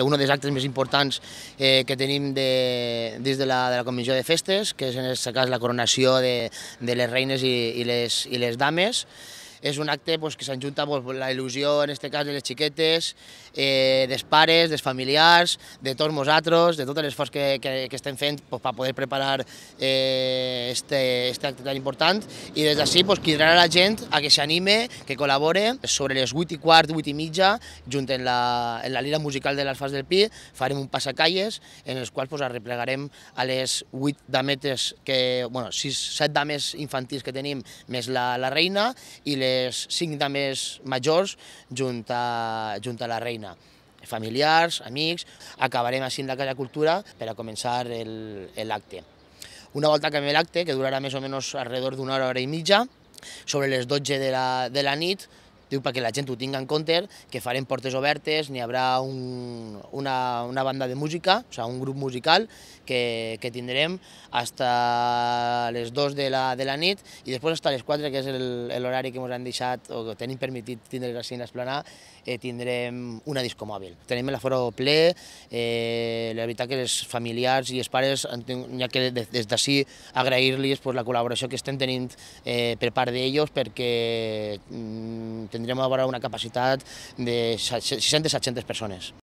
Un dels actes més importants que tenim dins de la Comissió de Festes, que és en aquest cas la coronació de les reines i les dames. És un acte que s'enjunta la il·lusió, en aquest cas, de les xiquetes, dels pares, dels familiars, de tots nosaltres, de tot l'esforç que estem fent per poder preparar aquest acte tan important. I des d'ací cridar a la gent a que s'anime, que col·labore. Sobre les 8:15, 8:30, junt en la lira musical de l'Alfàs del Pi, farem un passacalles en els quals arreplegarem a les 8 dametes, 7 dames infantils que tenim, més la reina, i les 5 dames majors junt a la reina. Familiars, amics, acabarem així en la Casa Cultura per a començar l'acte. Una volta acabem l'acte, que durarà més o menys alrededor d'una hora, hora i mitja, sobre les 12 de la nit, perquè la gent ho tingui en compte, que farem portes obertes, n'hi haurà una banda de música, un grup musical que tindrem fins a les 2 de la nit, i després fins a les 4, que és l'horari que ens han deixat o que tenim permetit tindre així a l'esplanada, tindrem una disco mòbil. Tenim l'aforo ple, la veritat que els familiars i els pares, n'hi ha que des d'ací agrair-los la col·laboració que estem tenint per part d'ells, perquè tindrem a veure una capacitat de 600-700 persones.